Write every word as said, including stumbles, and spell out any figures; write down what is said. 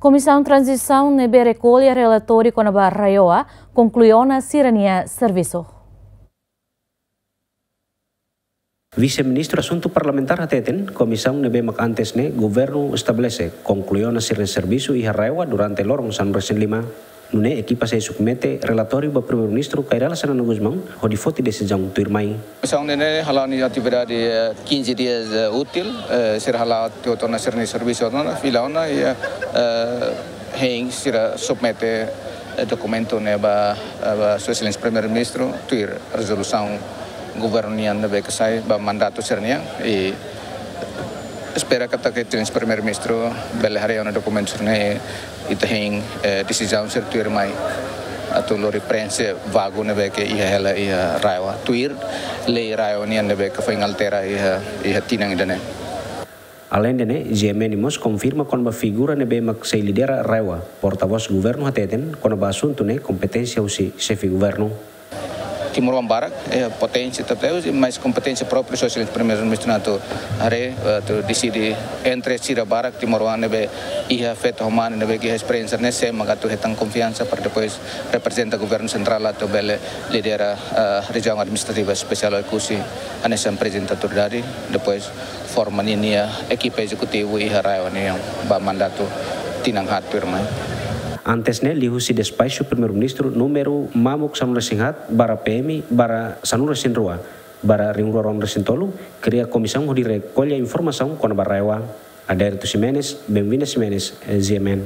Komisaun Tranzisaun ne'ebé rekolla relatóriu kona-ba RAEOA konklui ona sira-nia servisu. Vise-Ministru Asuntu Parlamentár hateten, komisaun ne'ebé mak antes ne'e governu estabelese konklui ona sira-nia servisu iha RAEOA durante loron sanulu-resin-lima. Nune'e ekipa sei submete relatóriu ba Primeiru-Ministru Kay Rala Xanana Gusmão hodi foti desizaun tuirmai. Komisaun ne'e hala'o nia atividade, eh, quinze dias, eh, útil, eh, sira hala'o tiha ona sira-nia servisu ona, fila ona, i, eh, hein sira submete, eh, dokumentu ne'e ba, eh, ba Sua Exelénsia Primeiru-Ministru, tuir rezolusaun governu nian ne'ebé ke sai ba mandatu sira-nian, i espera katak Sua Exelénsia Primeiru-Ministru bele haree ona dokumentu sira-ne'e, i ita hein, eh, desizaun sira tuirmai atu lori preenxe vagu ne'ebé ke iha hela iha RAEOA, tuir lei RAEOA nian ne'ebé ke foin altera iha, iha tinan ida-ne'e. Aleinde ne'e, G M N mós konfirma kona-ba figura ne'ebé mak sei lidera RAEOA. Portavós governu hateten, kona-ba asuntu ne'e kompeténsia husi xefe governu. Timoroan barak, eh, poténsia tebes, mas kompeténsia própria Sua Exelénsia Primeiru-Ministru atu haree, atu deside entre sira barak timoroan ne'ebé iha feto ho mane ne'ebé ke iha esperiénsia ne'e, sé mak atu hetan konfiansa para depois reprezenta governu sentrál atu bele lidera, eh, rejiaun administrativa espesiál Oekusi, hanesan prezidente autoridade, depois forma ninia ekipa ezekutivu iha RAEOA nian ba mandatu tinan haat tuirmai. Antes ne'e, liuhusi despaxu Primeiru-Ministru númeru mamuk sanulu-resin-haat barra P M barra sanulu-resin-rua barra rihun rua ruanulu-resin-tolu, kria komisaun hodi rekolla informasaun kona-ba RAEOA. Adérito Ximenes, Benvinda Ximenes, G M N.